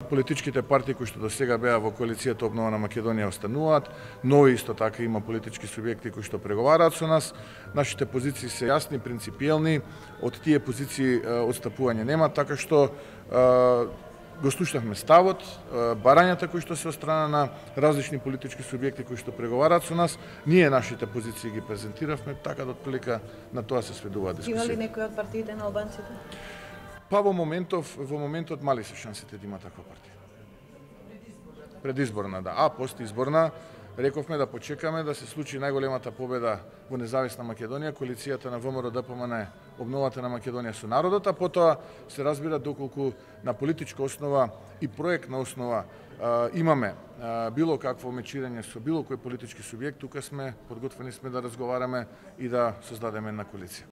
Политичките партии кои што до сега беа во коалицијата Обновена Македонија остануваат, но исто така има политички субјекти кои што преговараат со нас. Нашите позиции се јасни, принципиелни, од тие позиции одстапување нема, така што го слушнавме ставот, барањата кои што се од страна на различни политички субјекти кои што преговараат со нас, ние нашите позиции ги презентиравме, така да отприлика на тоа се сведува дискусија. Има ли некој од партиите на албанците? Па во моментот мали се шансите да има таква партија. Предизборна, да. А постизборна, рековме да почекаме да се случи најголемата победа во независна Македонија, коалицијата на ВМРО ДПМН Обновата на Македонија со народот, а потоа се разбира доколку на политичка основа и проектна основа имаме било какво мечирање со било кој политички субјект, тука сме подготвени да разговараме и да создадеме една коалиција.